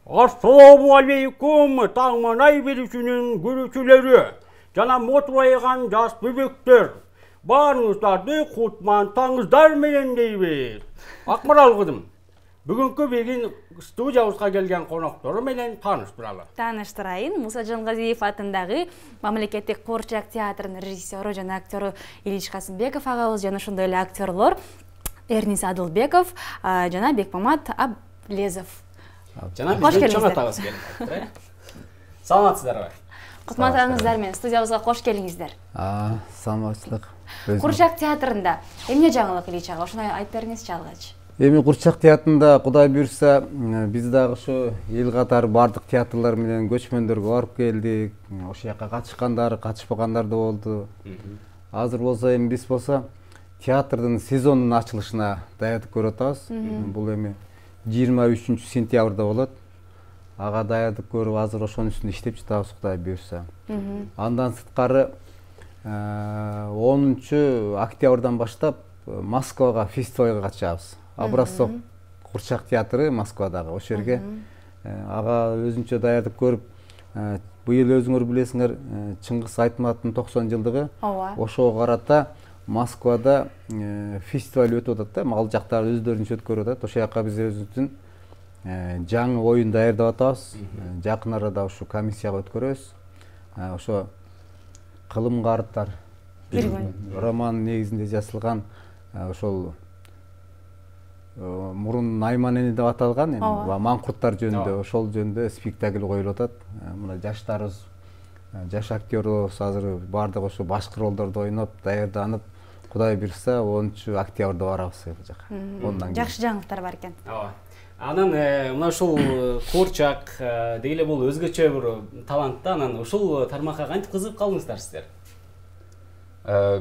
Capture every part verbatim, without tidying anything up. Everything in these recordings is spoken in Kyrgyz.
Assalamu alaikum, Tağmanay Birisi'nin gürücüleri, jana motbaygan жаш bebekler, barыңыздарды кутмантаңыздар менен дейбиз. Акмарал кызым, бүгүнкү биздин студиябызга келген коноктору менен тааныштыралы. Тааныштырайын, Муса Жангазиев атындагы Мамлекеттик Куурчак театрынын режиссеру жана актеру Илич Касымбеков агабыз жана ошондой эле актерлор Эрнис Адылбеков жана Бекмамат Аблезов. Жана биздин чоң атабыз келип. Саламатсыздарбы? Кутмандыңыздар менен студиябызга кош келиңиздер. А, саламатчылык. Куурчак театрында эмне жаңылык Илич ага, ошону айтып бериңизчи алгач. Эми Куурчак театрында Кудай буйрса, биз дагы ошо эл катары бардык театрлар менен көчмөндөргө барып келдик. Ошол жака катышкандар, катышпагандар да болду. Азыр болсо эми биз болсо театрдын сезонунун ачылышына даярдык көрүп атабыз. Бул эми жыйырма үчүнчү сентябрда болот. Ага даярдык көрүп азыр ошонун үстүндө иштеп жатабыз Кудай буйрса. Андан сырткары онунчу октябрдан баштап Москвага фестивалга катышабыз. Образцов Куурчак театры Москвадагы. Ошол жерге ага өзүнчө даярдык көрүп, быйыл өзүңөр билесиңер, Чыңгыз Айтматовдун токсон жылдыгы. Ошого карата Москвада фестиваль өтүп атат да, ал жактар өздөрүнчө өткөрүп атат. Ошол жака биз өзүбүздүн жаңы оюн даярдап атабыз. Жакын арада ушу комиссияга өткөрөбүз. Ошо кылым карттар роман негизинде жазылган ошол мурун Найман эне деп аталган, эми маңкурттар жөнүндө, ошол жөнүндө спектакль коюлуп атат. Мына жаштарыбыз, жаш актерлорубуз азыр бардык ошо башкы ролдорду ойноп, даярданып, Кудай буйрса онунчу октябрда барабыз ал жака. Ондан кийин жакшы жаңылыктар бар экен. Ооба. Анан мына ушул Куурчак деги эле бул өзгөчө бир талант да, анан ушул тармакка кантип кызыгып калдыңыздар сиздер?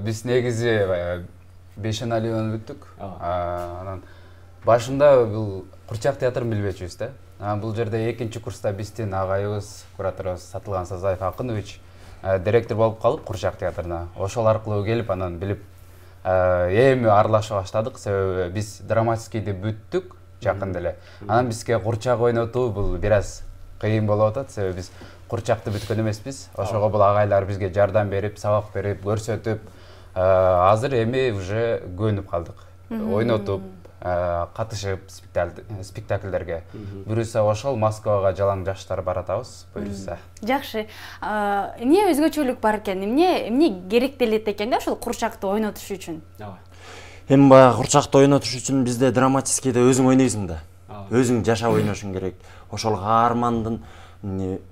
Биз негизи бешенали өнүттүк. Анан башында бул Куурчак театрын билбечүбүз да. Анан бул жерде экинчи курста биздин агайыбыз, кураторубуз Сатылган Сазаев Акынович директор болуп калып Куурчак театрына. Ошол аркылуу келип, анан билип эми аралаша баштадык. Себеби биз драматическийди бүттүк жакында эле. Анан бизге Куурчак ойнотуу бул бир аз кыйын болуп атат. Себеби биз Куурчакты бүткөн эмеспиз. Ошого бул агайлар бизге жардам берип, сабак берип, көрсөтүп, азыр эми уже көнүп калдык. Ойнотуп, катышып спектакльдерге. Буюрса ошол Москвага жалаң жаштар баратабыз, буюрса. Жакшы. Эмне өзгөчөлүк бар экен? Эмне эмне керектелет экен да ошол Куурчакты ойнотуш үчүн? Ооба. Эми баягы Куурчакты ойнотуш үчүн бизде драматическийде өзүң ойнойсуң да. Өзүң жашап ойношуң керек. Ошол каармандын,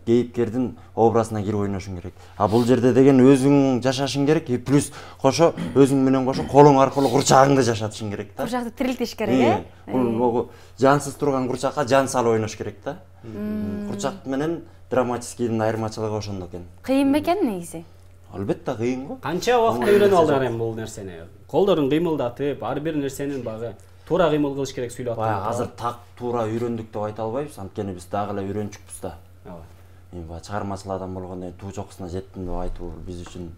кейипкердин образына кирип ойношуң керек. А бул жерде деген өзүң жашашың керек, и плюс кошо өзүң менен кошо колуң аркылуу Куурчагыңды жашатышың керек да. Куурчакты тирилтиш керек, э? Бул жансыз турган Куурчакка жан салып ойнош керек да. Куурчак менен драматическийдин айырмачылыгы ошондо экен. Кыйын бекен негизи? Албетте кыйын го. Канча убакытта үйрөнүп алдыңар эми бул нерсени? Колдорун кыймылдатып, ар бир нерсенин багы туура кыймыл кылыш керек сүйлөп атат. Баягы азыр так туура үйрөндүк деп айта албайбыз, анткени биз дагы эле үйрөнчүкпүз да. Ооба. Эми баягы чыгармачыл адам болгондон кийин туу чокусуна жеттим деп айтуу биз үчүн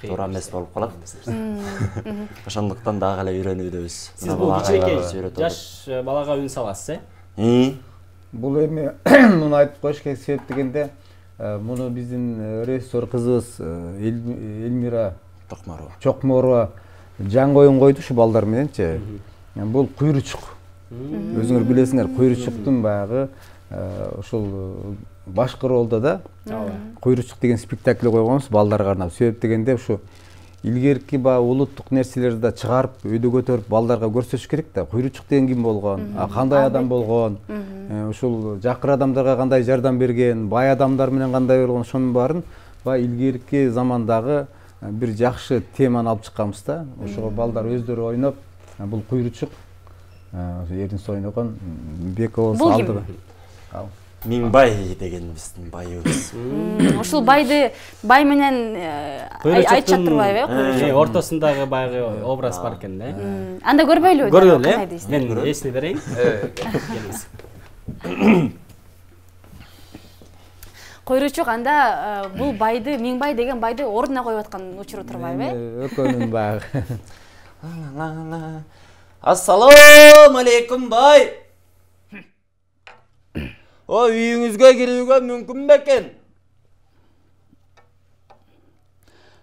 туура эмес болуп калат. Ошондуктан дагы эле үйрөнүүдөбүз. Сиз бул кичинекей жаш балага үн саласыз, э? Бул эми муну айтып коюш керек, себеп дегенде муну биздин режиссер кызыбыз Эльмира Чокморова. Чокморова жаңы оюн койду ушу балдар мененчи. Бул Куйручук. Өзүңөр билесиңер, Куйручуктун баягы ошол башкы ролдо да Куйручук деген спектакль койгонбуз балдарга арнап. Себеп дегенде ушу илгерки баягы улуттук нерселерди да чыгарып, өйдө көтөрүп балдарга көрсөтүш керек да. Куйручук деген ким болгон, кандай адам болгон, ушул жакыр адамдарга кандай жардам берген, бай адамдар менен кандай болгон, ошонун баарын баягы илгерки замандагы бир жакшы теманы алып чыкканбыз да. Ошого балдар өздөрү ойноп, бул Куйручук Эрнис ойногон Беков алдыгы. Миңбай деген биздин байыбыз. Ошол байды бай менен айтчат турбайбы, э? Э, ортосундагы баягы образ бар экен да. Анда көрбөйлүбү? Көргөлү, э? Мен эсине берейин. Келиңиз. Куйручук анда бул байды, Миңбай деген байды ордуна коюп аткан учуру турбайбы, э? Экөөнүн баягы. Ассалам алейкум бай. Ой, үйүңүзгө кирүүгө мүмкүн бекен?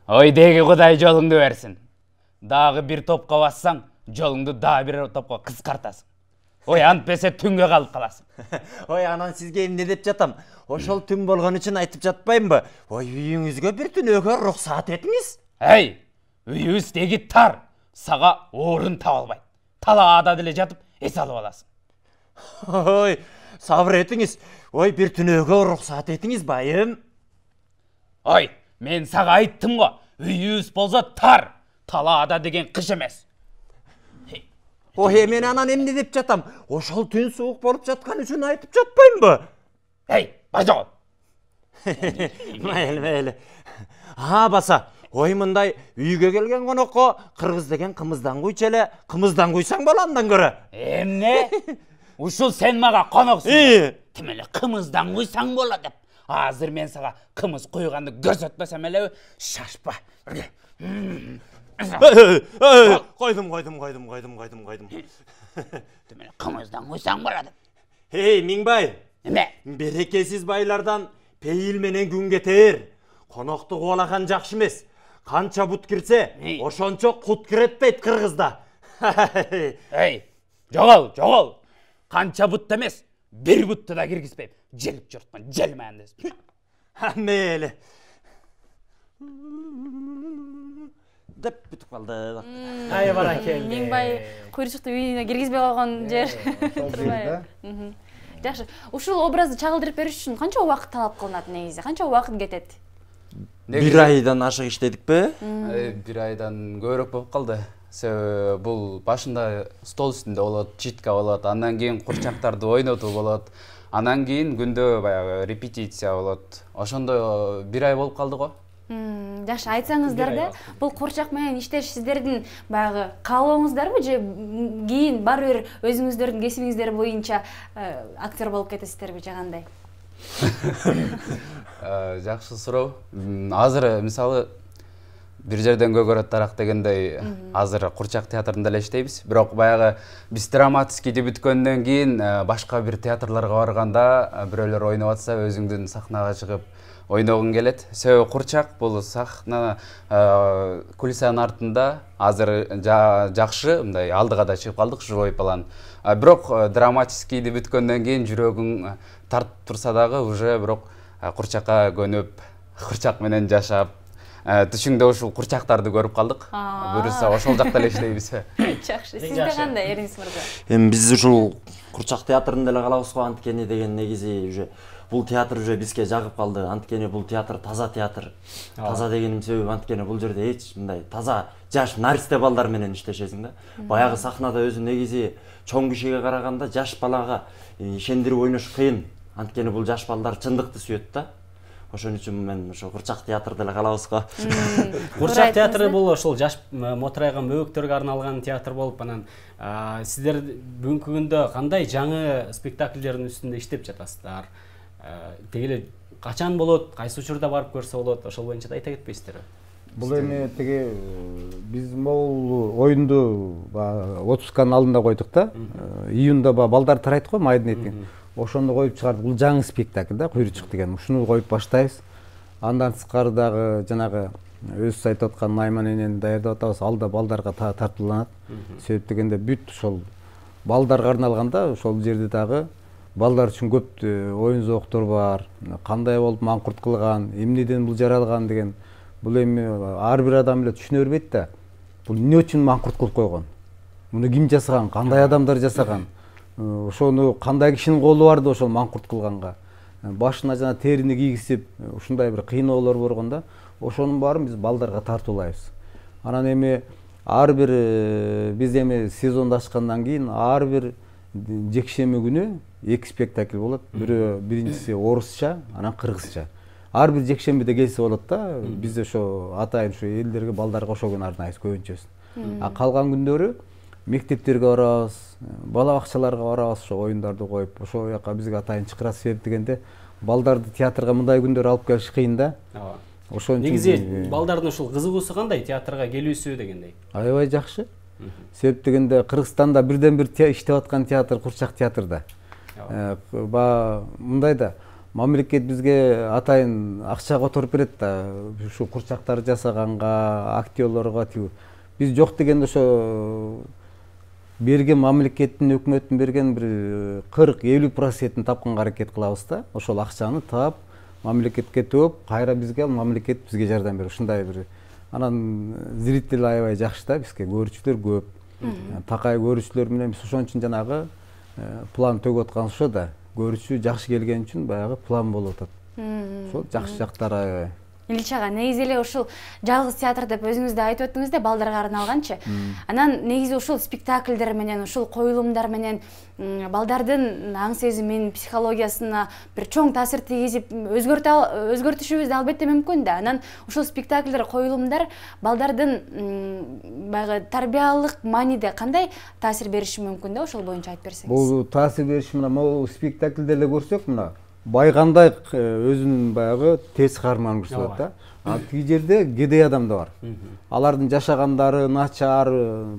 Ой, деги Кудай жолуңду берсин. Дагы бир топко бассаң, жолуңду дагы бир топко кыскартасың. Ой, антпесе түнгө калып каласың. Ой, анан сизге эмне деп жатам? Ошол түн болгон үчүн айтып жатпаймынбы? Ой, үйүңүзгө бир түнөөгө уруксаат этиңиз. Эй, үйүбүз деги тар. Сага орун таба албайт. Талаада деле жатып, эс алып аласың. Ой, сабыр этиңиз. Ой, бир түнөөгө уруксаат этиңиз, байым. Ой, мен сага айттым го. Үйүбүз болсо тар. Талаада деген кыш эмес. Ой, мен анан эмне деп жатам? Ошол түн суук болуп жаткан үчүн айтып жатпаймынбы? Эй, бажагол. Мейли, мейли. А, баса. Ой, мындай үйгө келген конокко кыргыз деген кымыздан куйчу эле, кымыздан куйсаң боландан көрө. Эмне? Ушул сен мага коноксуң. Тим эле кымыздан куйсаң болот деп. Азыр мен сага кымыз куйганды көрсөтпөсөм элеби? Шашпа. Койдум, койдум, койдум, койдум, койдум, койдум. Тим эле кымыздан куйсаң болот деп. Эй, Миңбай. Эме? Берекесиз байлардан пейил менен күн кетер. Конокту кубалаган жакшы эмес. Канча бут кирсе, ошончо кут кирет дейт кыргызда. Эй, жогол, жогол. Канча бут эмес, бир бутту да киргизбейм. Желип жортман, желмейм десин. Мейли. деп бүтүп калды. Ай баракелде. Миңбай куйручукту үйүнө киргизбей койгон жер. Турбайбы? Жакшы. Ушул образды чагылдырып бериш үчүн канча убакыт талап кылынат негизи? Канча убакыт кетет? Бир айдан ашык иштедикпи? Бир айдан көбүрөөк болуп калды. Себеби бул башында стол үстүндө болот, читка болот, андан кийин курчактарды ойнотуу болот. Андан кийин күндө баягы репетиция болот. Ошондо бир ай болуп калды го. Жакшы, айтсаңыздар да, бул курчак менен иштеш сиздердин баягы каалооңуздарбы же кийин баары бир өзүңүздөрдүн кесибиңиздер боюнча актер болуп кетесиздерби же кандай? Жакшы суроо. Азыр мисалы бир жерден көгөрөт тарак дегендей азыр курчак театрында эле иштейбиз. Бирок баягы биз драматическийди бүткөндөн кийин башка бир театрларга барганда бирөөлөр ойноп атса өзүңдүн сахнага чыгып ойногуң келет. Себеби курчак бул сахна кулисанын артында азыр жакшы, мындай алдыга да чыгып калдык живой план. Бирок драматическийди бүткөндөн кийин жүрөгүң тартып турса дагы уже бирок курчакка көнүп, курчак менен жашап, түшүңдө ушул курчактарды көрүп калдык. Буюрса ошол жакта эле иштейбиз. Жакшы. Сизде кандай, Эрнис мырза? Эми биз ушул курчак театрында эле калабыз го, анткени деген негизи уже бул театр уже бизге жагып калды. Анткени бул театр таза театр. Таза дегеним себеби анткени бул жерде эч мындай таза жаш наристе балдар менен иштешесиң да. Баягы сахнада өзү негизи чоң кишиге караганда жаш балага ишендирип ойнош кыйын. Анткени бул жаш балдар чындыкты сүйөт да. Ошон үчүн мен ошо курчак театрда эле калабыз го. Курчак театры бул ошол жаш мотурайган бөбөктөргө арналган театр болуп, анан сиздер бүгүнкү күндө кандай жаңы спектакльдердин үстүндө иштеп жатасыздар? Теги эле качан болот, кайсы учурда барып көрсө болот, ошол боюнча да айта кетпейсиздерби? Бул эми теги биз могул оюнду отпусканын алдында койдук да. Июнда балдар тарайт го, майдын этин. Ошону коюп чыгардык. Бул жаңы спектакль да, Куйручук деген. Ушуну коюп баштайбыз. Андан тышкары дагы жанагы өзү айтып аткан Найман энени даярдап атабыз. Алда балдарга тартууланат. Себеп дегенде бүт ошол балдарга арналганда ошол жерде дагы балдар үчүн көп оюн зооктор бар. Кандай болуп маңкурт кылган, эмнеден бул жаралган деген. Бул эми ар бир адам эле түшүнө бербейт да. Бул эмне үчүн маңкурт кылып койгон? Муну ким жасаган? Кандай адамдар жасаган? Ошону кандай кишинин колу барды ошол маңкурт кылганга? Башына жана терини кийгизип, ушундай бир кыйноолор болгон да. Ошонун баарын биз балдарга тартуулайбыз. Анан эми ар бир биз эми сезонду ачкандан кийин ар бир жекшемби күнү эки спектакль болот. Бирөө биринчиси орусча, анан кыргызча. Ар бир жекшембиде келсе болот да. Биз ошо атайын ушу элдерге, балдарга ошол күнү арнайбыз көбүнчөсүн. А калган күндөрү мектептерге барабыз, бала бакчаларга барабыз, ошо оюндарды коюп, ошол жака бизге атайын чакырасыз. Себеп дегенде балдарды театрга мындай күндөр алып келиш кыйын да. Ошон үчүн негизи балдардын ушул кызыгуусу кандай театрга келүүсү дегендей? Аябай жакшы. Себеп дегенде Кыргызстанда бирден бир иштеп аткан театр Курчак театрда. Баягы мындай да мамлекет бизге атайын акча которуп берет да, ушу курчактарды жасаганга, актерлорго тиги. Биз жок дегенде ошо берген мамлекеттин, өкмөттүн берген бир кырк элүү процентин тапканга аракет кылабыз да. Ошол акчаны таап, мамлекетке төөп, кайра бизге мамлекет бизге жардам берет. Ушундай бир анан зритель аябай жакшы да, бизге көрүүчүлөр көп. Такай көрүүчүлөр менен биз ошон үчүн жанагы план төгүп аткан ошо да. Көрүүчү жакшы келген үчүн баягы план болуп атат. Ошол жакшы жактары аябай. Ильич ага, негизи эле ушул жалгыз театр деп өзүңүз да айтып өттүңүз да, балдарга арналганчы. Анан негизи ушул спектакльдер менен, ушул коюлумдар менен балдардын аң сезимин, психологиясына бир чоң таасир тийгизип өзгөртүшүбүз да албетте мүмкүн да. Анан ушул спектакльдер, коюлумдар балдардын баягы тарбиялык мааниде кандай таасир бериши мүмкүн да, ошол боюнча айтып берсеңиз. Бул таасир бериши мына могу спектакльде эле көрсөк, мына байгандай өзүнүн баягы тез каарманын көрсөтөт да. А тиги жерде кедей адам да бар. Алардын жашагандары начар,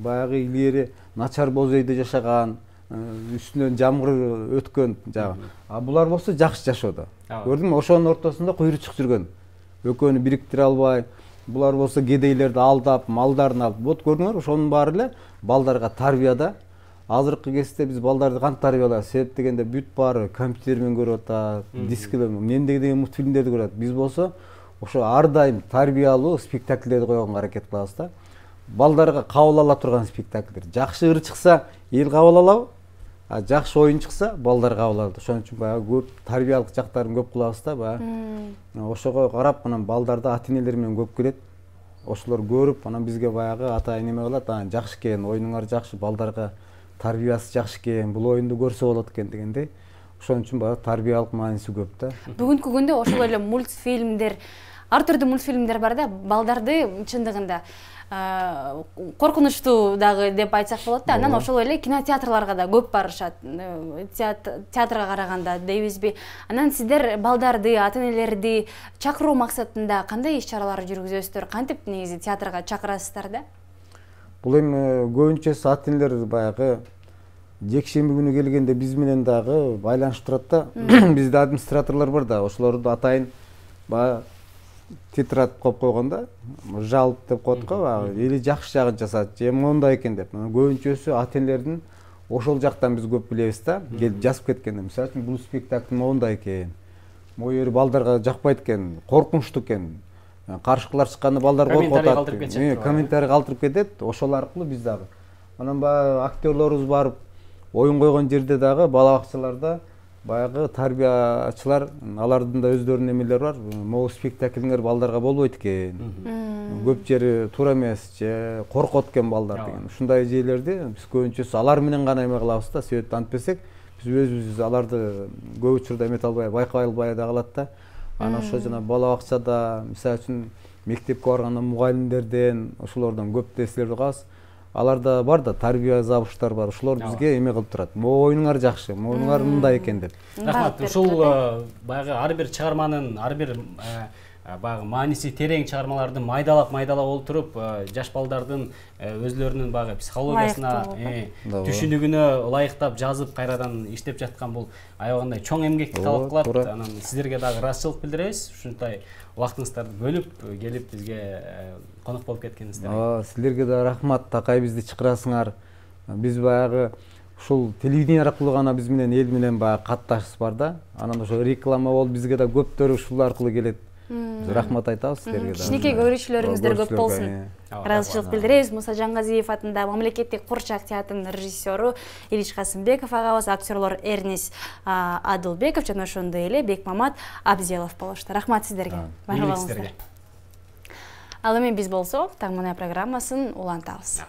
баягы илгери начар боз үйдө жашаган, үстүнөн жамгыр өткөн жагы. А булар болсо жакшы жашоодо. Көрдүңбү, ошонун ортосунда куйручук жүргөн. Экөөнү бириктире албай, булар болсо кедейлерди алдап, малдарын алып. Вот көрдүңөр, ошонун баары эле балдарга тарбияда. Азыркы кезде биз балдарды кантип тарбиялайбыз? Себеп дегенде бүт баары компьютер менен көрүп атат, дискилер, мендеги деген мультфильмдерди көрөт. Биз болсо ошо ар дайым тарбиялуу спектакльдерди койгонго аракет кылабыз да. Балдарга кабыл ала турган спектакльдер. Жакшы ыр чыкса, эл кабыл алабы? А жакшы оюн чыкса, балдар кабыл алат. Ошон үчүн баягы көп тарбиялык жактарын көп кылабыз да, баягы. Ошого карап, анан балдарды ата-энелер менен көп келет. Ошолор көрүп, анан бизге баягы ата-эне неме кылат, анан жакшы экен, оюнуңар жакшы, балдарга тарбиясы жакшы экен, бул оюнду көрсө болот экен дегендей. Ошон үчүн баягы тарбиялык мааниси көп да. Бүгүнкү күндө ошол эле мультфильмдер, ар түрдүү мультфильмдер бар да, балдарды чындыгында коркунучтуу дагы деп айтсак болот да. Анан ошол эле кинотеатрларга да көп барышат, театрга караганда дейбизби. Анан сиздер балдарды, ата-энелерди чакыруу максатында кандай иш-чаралар жүргүзөсүздөр? Кантип негизи театрга чакырасыздар да? Бул эми көбүнчөсү ата-энелер баягы жекшемби күнү келгенде биз менен дагы байланышып турат да. Бизде администраторлор бар да, ошолорду атайын баягы тетрадь коюп койгондо, жалп деп коет го, баягы эли жакшы жагын жасат, же мондай экен деп. Көбүнчөсү ата-энелердин ошол жактан биз көп билебиз да, келип жазып кеткенде. Мисалы үчүн бул спектакль мондай экен, могу жери балдарга жакпайт экен, коркунучтуу экен. Каршылар чыкканда балдар коркуп атат, комментарий калтырып кетет, ошол аркылуу биз дагы. Анан баягы актерлорубуз барып оюн койгон жерде дагы бала бакчаларда баягы тарбиячылар, алардын да өздөрүнүн эмелери бар. Могу спектакльиңер балдарга болбойт экен. Көп жери туура эмес, же коркот экен балдар деген. Ушундай жерлерди биз көбүнчөсү алар менен гана эме кылабыз да, себеп антпесек биз өзүбүз аларды көп учурда эмете албай, байкай албай да калат да. Анан ошо жана бала бакчада, мисалы үчүн мектепке барганда мугалимдерден, ошолордон көп нерселерди угабыз. Аларда бар да, тарбия забыштар бар. Ошолор бизге эме кылып турат. Могу оюнуңар жакшы, могуңар мындай экен деп. Рахмат. Ушул баягы ар бир чыгарманын, ар бир баягы мааниси терең чыгармаларды майдалап майдалап олтуруп, жаш балдардын өзлөрүнүн баягы психологиясына, түшүнүгүнө ылайыктап жазып, кайрадан иштеп жаткан бул аябагандай чоң эмгекти талап кылат. Анан сиздерге дагы ыраазычылык билдиребиз. Ушундай убактыңыздарды бөлүп келип бизге конок болуп кеткениңизде. Ооба, силерге да рахмат, такай бизди чакырасыңар. Биз баягы ушул телевидение аркылуу гана биз менен эл менен баягы катташыбыз бар да. Анан ошо реклама болуп бизге да көптөр ушул аркылуу келет. Биз рахмат айтабыз силерге да. Кичинекей көрүүчүлөрүңүздөр көп болсун. Ыраазычылык билдиребиз. Муса Жангазиев атындагы мамлекеттик Курчак театрынын режиссеру Ильич Касымбеков агабыз, актерлор Эрнис Адылбеков жана ошондой эле Бекмамат Абзелов болушту. Рахмат сиздерге. Баарлыгыңызга. Ал эми биз болсо Таң Мунай программасын улантабыз.